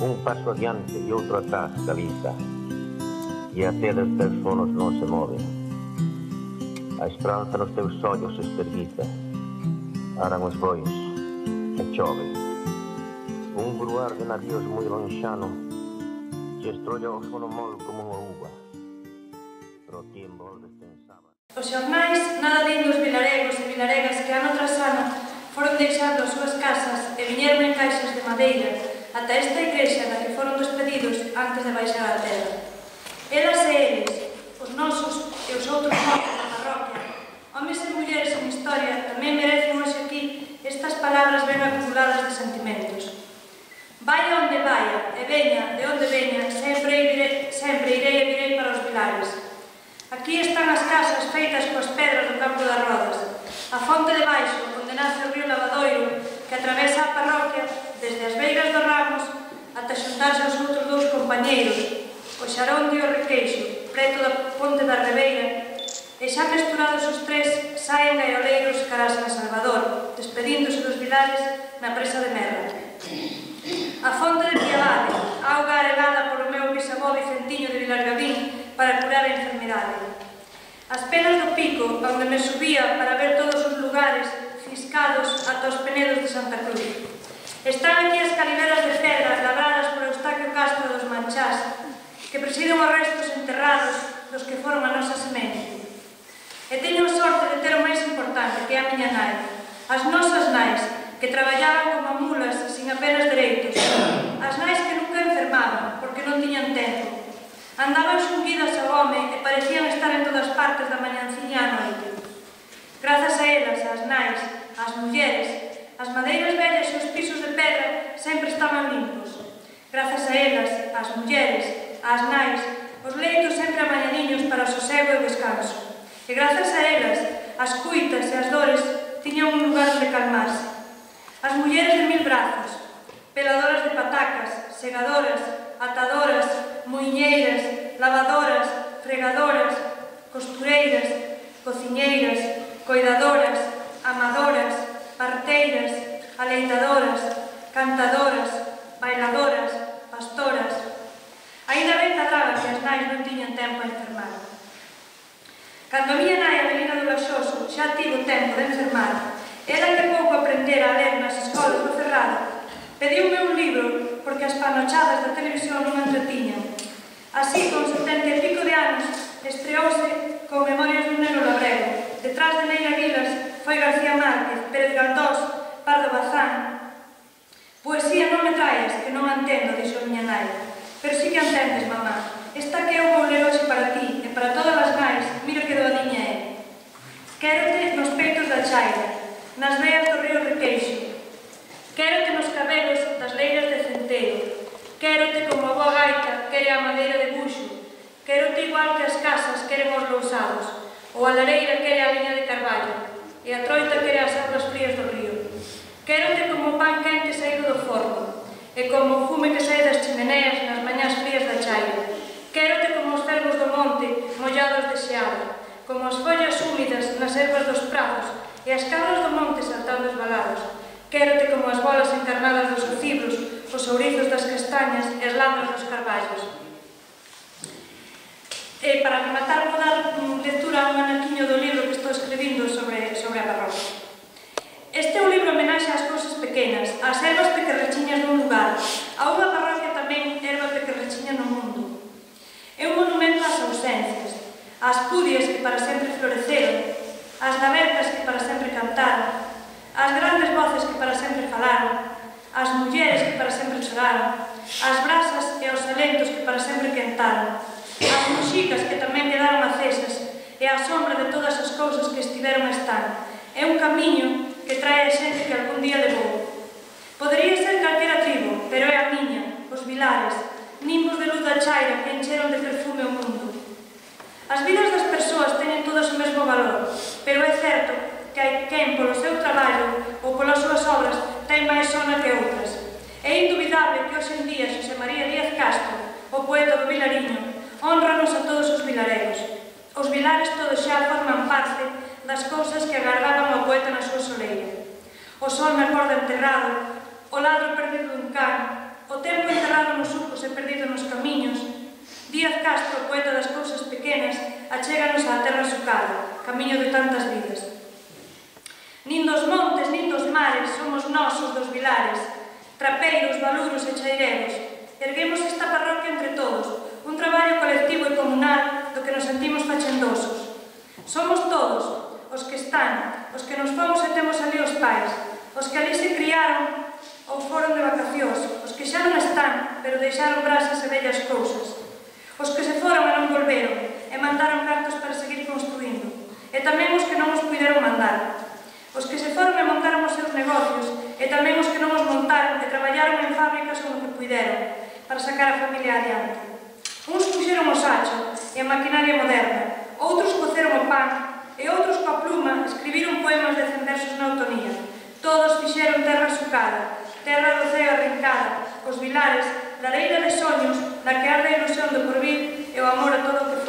un paso adiante e outro atrás caliza, e até dos teus sonos non se move. A esperanza nos teus ollos se esterguiza, aran os bois e chove. Un bruar de navíos moi lonxano se estrolla o sono mol como unha uva, pero ti en volves pensaba. Os xornais nada din dos vilaregos e vilaregas que ano tras ano foron deixando as súas casas e viñeron en caixas de madeira ata esta igrexa na que foron despedidos antes de baixar a terra. Elas e eles, os nosos e os outros mortos da parroquia, homes e mulleres en historia, tamén merecen hoxe aquí estas palabras ben acumuladas de sentimentos. Vaya onde vaya, e veña de onde veña, sempre irei e virei para os vilares. Aquí están as casas feitas coas pedras do campo das Rodas, a fonte de baixo, onde nace o río Lavadoiro, que atravesa a parroquia desde as Beiras dos Ramos ata xuntarse aos outros dous compañeiros, o Xaronde e o Requeixo, preto da ponte da Rebeira, e xa mesturados os tres saen gaioleiros cara a San Salvador, despedíndose dos vilares na presa de Merra. A fonte de Piavade, auga aregada polo meu bisavó Vicentiño de Vilargavín para curar a enfermidade. As penas do Pico, onde me subía para ver todos os lugares ciscados ata os penedos de Santa Cruz. Están aquí as caliveras de pedra labradas por Eustaquio Castro dos Manchás, que presiden os restos enterrados dos que foron a nosa semente. E teño a sorte de ter o máis importante, que é a miña nai. As nosas nais, que traballaban como mulas sin apenas dereitos. As nais que nunca enfermaban, porque non tiñan tempo. Andaban xunguidas ao home e parecían estar en todas partes da mañanciña á noite. Grazas a elas, as nais, as mulleres, as madeiras vellas e os pisos de pedra sempre estaban limpos. Grazas a elas, as mulleres, as nais, os leitos sempre amañadiños para o sosego e o descanso. E grazas a elas, as cuitas e as dores tiñan un lugar onde calmarse. As mulleres de mil brazos, peladoras de patacas, segadoras, atadoras, muiñeiras, lavadoras, fregadoras, costureiras, cociñeiras, coidadoras, amadoras, parteiras, aleitadoras, cantadoras, bailadoras, pastoras. Ainda ben cadraba que as nais non tiñan tempo a enfermar. Cando a miña nai Avelina do Laxoso xa tivo tempo de enfermar, ela que pouco aprendera a ler nas escolas do Cerrado, pediume un libro porque as panochadas da televisión non entretiñan. Así, con 70 e pico de anos, estreouse con Memorias dun Negro Labrego. Detrás de Neira Vilas foi García Márquez, Pérez Galdós, Pardo Bazán. Poesía non me traes, que non a entendo, dixo a miña nai. Pero sí que entendes, mamá. Esta que eu vou ler hoxe para ti e para todas as nais, mira que doadiña é. Quérote nos peitos da chaira, nas veas do río Requeixo. Quérote nos cabelos das leiras de centeo. Quérote como a boa gaita quere a madeira de buxo. Quérote igual que as casas queren os lousados, ou a lareira quere a liña de carballo, e a troita quere as augas frías do río. Quérote como o pan quente saído do forno, e como o fume que sae das chimeneas nas mañás frías da chaira. Quérote como os cervos do monte mollados de xeada, como as follas húmidas nas ervas dos prados e as cabras do monte saltando esbalados. Quérote como as bolas encarnadas dos ocibros, os ourizos das castañas e as lamas dos carballos. E para rematar vou dar lectura a un anaquiño do libro que estou escribindo sobre a parroquia. Este é un libro homenaxe ás cousas pequenas, ás ervas pequerrechiñas dun lugar, a unha parroquia tamén erva pequerrechiña no mundo. É un monumento ás ausencias, ás pudias que para sempre floreceron, ás navercas que para sempre cantaron, ás grandes voces que para sempre falaron, ás mulleres que para sempre choraron, ás brasas e aos alentos que para sempre quentaron, ás muxicas que tamén quedaron acesas e á sombra de todas as cousas que estiveron a estar. É un camiño que trae a xente que algún día levou. Podería ser calquera tribo, pero é a miña, os vilares, nimbos de luz da chaira que encheron de perfume o mundo. As vidas das persoas teñen todas o mesmo valor, pero é certo que hai quen polo seu traballo ou polas súas obras ten máis sona que outras. É indubidable que hoxe en día Xosé María Díaz Castro, o poeta do Vilariño, honranos a todos os vilaregos. Os vilares todos xa forman parte das cousas que agardaban ao poeta na súa soleira. O sol na corda enterrado, o ladro perdido dun can, o tempo enterrado nos sucos e perdido nos camiños. Díaz Castro, poeta das cousas pequenas, achéganos á terra sucada, camiño de tantas vidas. Nin dos montes, nin dos mares, somos nós os dos vilares, trapeiros, baluros e chaireros. Erguemos esta parroquia entre todos, un traballo colectivo e comunal do que nos sentimos fachendosos. Somos todos, os que están, os que nos fomos e temos ali os pais, os que ali se criaron ou foron de vacacións, os que xa non están, pero deixaron brasas e bellas cousas, os que se foron e non volveron, e mandaron cartos para seguir construindo, e tamén os que non os puideron mandar, os que se foron e montaron os seus negocios, e tamén os que non os montaron e traballaron en fábricas ou no que puideron, para sacar a familia adiante. Uns puxeron o sacho e a maquinaria moderna, outros coceron o pan, e outros coa pluma escribiron poemas de 100 versos na autonía. Todos fixeron terra sucada, terra do ceo arrincada, os vilares, lareira de soños, na que arde a ilusión do porvir e o amor a todo o que